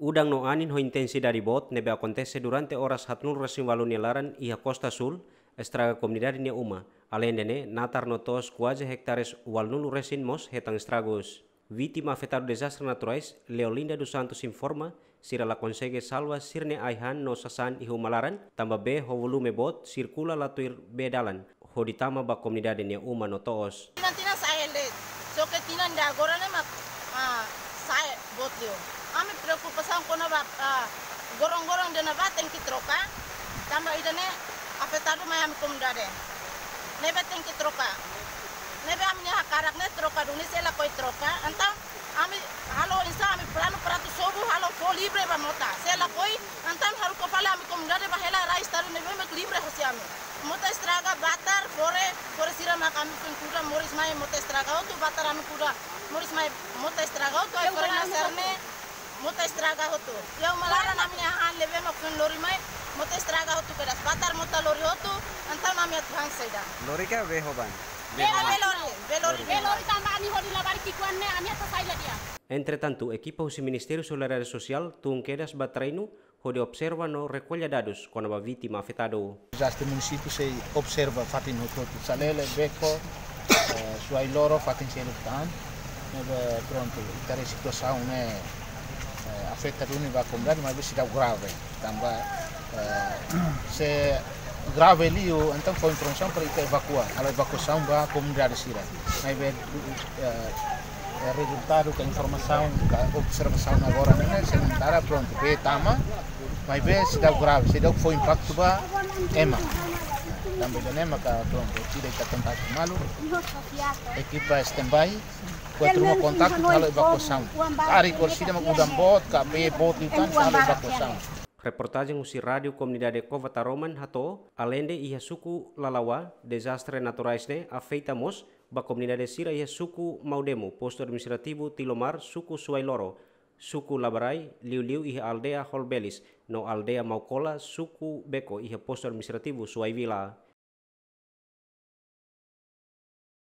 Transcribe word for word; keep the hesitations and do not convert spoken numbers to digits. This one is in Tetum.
Udan no anin ho intensidade boot ne'ebé akontese durante oras haatnulu resin ualu nia laran iha Kosta Súl, estraga komunidade nia uma. Aleinde ne'e, natar no toos kuaze hektares ualunulu resin mós hetan estragus. Vítima afetadu dezastre naturais, Leolinda dos Santos informa, sira la konsege salva sira-nia ai-han no sasán iha uma laran, tanba bee ho volume boot sirkula la tuir bee dalan, hodi tama ba komunidade nia uma no toos. Tinan-tinan sa'e hela de'it, só ke tinan ida agora ne'e mak, ah, sa'e boot liu. Ami preokupasaun kona-ba, ah, gorong-gorong ida ne'ebá tenke troka, tanba ida-ne'e afetadu mai ami komunidade. Ne'ebé tenke troka. Ne'ebé ami-nia hakarak ne'e troka duni, se lakohi troka. Entaun ami halo oinsá ami planu para atu sobu halo fó livre ba mota. Se lakohi, entaun haruka fali ami komunidade bá hela rai estadu ne'ebé mak livre hosi ami. Mota estraga, batar, fore, fore sira mak ami foin kuda, moris mai mota estraga hotu, batar ami kuda, moris mai mota estraga hotu, ai fore na serne, mota estraga hotu. Iha uma laran ami-nia han ne'ebé mak foin lori mai, mota estraga hotu kedas, batar mota lori hotu, entaun ami atu han saida? Lori ka bee ho ban? Bee lori, bee lori. Bee lori tanba ami hodi labarik ki'ikoan ne'e, ami atu sai la di'ak. Entretantu, ekipa husi Ministériu Solidariedade Sosiál tun kedas ba terrenu hodi observa no rekolla dadus kona-ba vítima afetadu. Dezastre munisípiu sei observa fatin hotu-hotu, Salele, Beko, eh, Suai Loro, fatin seluk tan. Ne'ebé prontu, ita haree situasaun ne'e, eh, afeta duni ba komunidade, maibé seidauk grave. Tanba, eh, se grave liu, entaun fó informasaun para ita evakua, halo evakuasaun ba komunidade sira. Maibé, eh, eh, rezultadu ka informasaun ka observasaun agora ne'e, sementara prontu, bee tama, maibé seidauk grave, seidauk fó impaktu ba ema. Tanba ida-ne'e maka prontu, ita kontaktu malu, ekipa standby, buat ruma kontaktu halo evakuasaun. Ari kor sida mak udan boot ka bee boot liután halo evakuasaun. Reportajen husi Rádiu Komunidade Cova Taroman hato'o, aleinde iha suku Lalawa, dezastre naturais ne'e afeta mós ba komunidade sira iha suku Maudemo, postu administrativu Tilomar, suku Suai Loro, suku Labarai, liuliu iha aldeia Holbelis, no aldeia Maukola, suku Beko, iha postu administrativu Suai Vila.